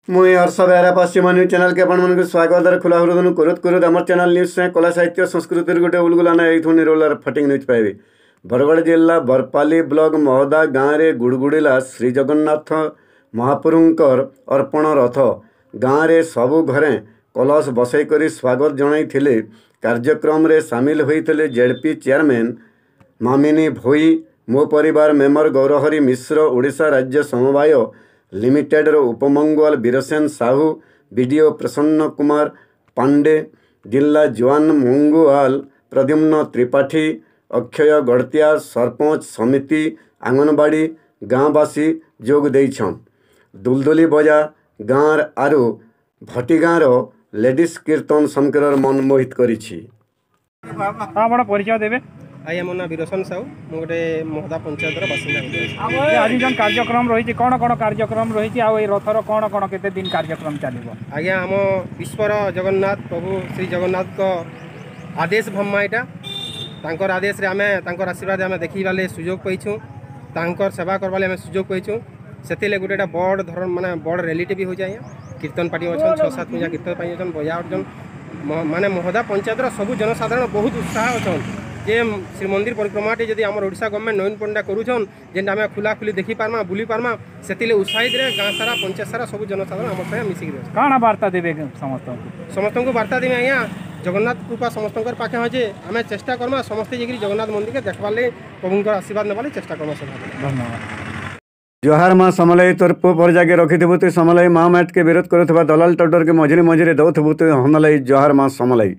ମୁଇଁ ହର୍ଷ ବେହେରା, ପଶ୍ଚିମ ନ୍ୟୁଜ୍ ଚ୍ୟାନେଲ୍କେ ଆପଣମାନଙ୍କୁ ସ୍ୱାଗତ ଖୋଲା ହୃଦୟନୁ କରୁତ କରୁତ। ଆମର ଚ୍ୟାନେଲ୍ ନ୍ୟୁଜ୍ ସାଙ୍ଗେ କଳା, ସାହିତ୍ୟ, ସଂସ୍କୃତିର ଗୋଟେ ଉଲଗୁଲାନା ଏଇଥୁ ନିରୋଲାର ଫଟିଂ ନ୍ୟୁଜ୍ ପାଇବେ। ବରଗଡ଼ ଜିଲ୍ଲା ବରପାଲି ବ୍ଲକ ମହଦା ଗାଁରେ ଗୁଡ଼ଗୁଡ଼ିଲା ଶ୍ରୀଜଗନ୍ନାଥ ମହାପ୍ରଭୁଙ୍କର ଅର୍ପଣ ରଥ। ଗାଁରେ ସବୁ ଘରେ କଳସ ବସେଇକରି ସ୍ୱାଗତ ଜଣାଇଥିଲେ। କାର୍ଯ୍ୟକ୍ରମରେ ସାମିଲ ହୋଇଥିଲେ ଜେଡ଼ପି ଚେୟାରମ୍ୟାନ୍ ମାମିନୀ ଭୋଇ, ମୋ ପରିବାର ମେମ୍ବର ଗୌରହରି ମିଶ୍ର, ଓଡ଼ିଶା ରାଜ୍ୟ ସମବାୟ ଲିମିଟେଡ଼ର ଉପମଙ୍ଗୁଆଲ ବୀରସେନ ସାହୁ, ବିଡ଼ିଓ ପ୍ରସନ୍ନ କୁମାର ପାଣ୍ଡେ, ଜିଲ୍ଲା ଜୁଆନ ମଙ୍ଗୁଆଲ ପ୍ରଦ୍ୟୁମ୍ନ ତ୍ରିପାଠୀ, ଅକ୍ଷୟ ଗଡ଼ତିଆ, ସରପଞ୍ଚ ସମିତି, ଅଙ୍ଗନବାଡ଼ି, ଗାଁବାସୀ ଯୋଗ ଦେଇଛନ୍। ଦୁଲଦୁଲି ବଜା ଗାଁର ଆରୁ ଭଟିଗାଁର ଲେଡ଼ିସ୍ କୀର୍ତ୍ତନ ସମକରର ମନ ମୋହିତ କରିଛି। ଆପଣ ପରିଚୟ ଦେବେ? ଆଜ୍ଞା, ମୋ ନାଁ ବୀରସନ ସାହୁ, ମୁଁ ଗୋଟେ ମହଦା ପଞ୍ଚାୟତର ବାସିନ୍ଦା। ଆଜି ଯେଉଁ କାର୍ଯ୍ୟକ୍ରମ ରହିଛି, କ'ଣ କ'ଣ କାର୍ଯ୍ୟକ୍ରମ ରହିଛି ଆଉ ଏଇ ରଥର କ'ଣ କ'ଣ କେତେ ଦିନ କାର୍ଯ୍ୟକ୍ରମ ଚାଲିବ? ଆଜ୍ଞା, ଆମ ବିଶ୍ୱର ଜଗନ୍ନାଥ ପ୍ରଭୁ ଶ୍ରୀ ଜଗନ୍ନାଥଙ୍କ ଆଦେଶ ଭମ୍ମା ଏଇଟା। ତାଙ୍କର ଆଦେଶରେ ଆମେ, ତାଙ୍କର ଆଶୀର୍ବାଦ ଆମେ ଦେଖିବାର୍ ଲାଗି ସୁଯୋଗ ପାଇଛୁଁ, ତାଙ୍କର ସେବା କରବାର୍ ଲାଗି ଆମେ ସୁଯୋଗ ପାଇଛୁଁ। ସେଥିର୍ଲାଗି ଗୋଟେ ଏଇଟା ବଡ଼ ଧରଣ, ମାନେ ବଡ଼ ର୍ୟାଲିଟେ ବି ହଉଛେ ଆଜ୍ଞା। କୀର୍ତ୍ତନ ପାର୍ଟି ଅଛନ୍, 6 7 ପୂଜା କୀର୍ତ୍ତନ ପାର୍ଟି ଅଛନ୍, ବଜା ଅଛନ୍। ମାନେ ମହଦା ପଞ୍ଚାୟତର ସବୁ ଜନସାଧାରଣ ବହୁତ ଉତ୍ସାହ ଅଛନ୍ ଯେ ଶ୍ରୀମନ୍ଦିର ପରିକ୍ରମାଟି ଯଦି ଆମର ଓଡ଼ିଶା ଗଭର୍ଣ୍ଣମେଣ୍ଟ ନବୀନ ପଣ୍ଡା କରୁଛନ୍, ଯେନ୍ଟା ଆମେ ଖୋଲାଖୋଲି ଦେଖିପାରମା, ବୁଲି ପାରମା, ସେଥିର୍ଲାଗି ଉତ୍ସାହିତରେ ଗାଁ ସାରା, ପଞ୍ଚାୟତ ସାରା ସବୁ ଜନସାଧାରଣ ଆମ ସାଙ୍ଗେ ମିଶିକିରି ଅଛନ୍। କାଣା ବାର୍ତ୍ତା ଦେବେ ସମସ୍ତଙ୍କୁ? ସମସ୍ତଙ୍କୁ ବାର୍ତ୍ତା ଦେବି ଆଜ୍ଞା, ଜଗନ୍ନାଥ କୃପା ସମସ୍ତଙ୍କର ପାଖେ ଅଛି। ଆମେ ଚେଷ୍ଟା କର୍ମା ସମସ୍ତେ ଯାଇକିରି ଜଗନ୍ନାଥ ମନ୍ଦିରକେ ଦେଖବାର୍ ଲାଗି, ପ୍ରଭୁଙ୍କର ଆଶୀର୍ବାଦ ନେବାର୍ ଲାଗି ଚେଷ୍ଟା କର୍ମା ସଦାବେଳେ। ଧନ୍ୟବାଦ। ଜୁହାର ମା ସମଲେଇ, ତୋର ପୁଅ ପରଜାକେ ରଖିଥିବୁ ତୁଇ ସମଲେଇ। ମା ମାଟକେ ବିରୋଧ କରୁଥିବା ଦଲାଲ ଟଉଟରକେ ମଝିରେ ମଝିରେ ଦଉଥିବୁ ତୁଇ ହନଲେଇ। ଜୁହାର ମା ସମଲେଇ।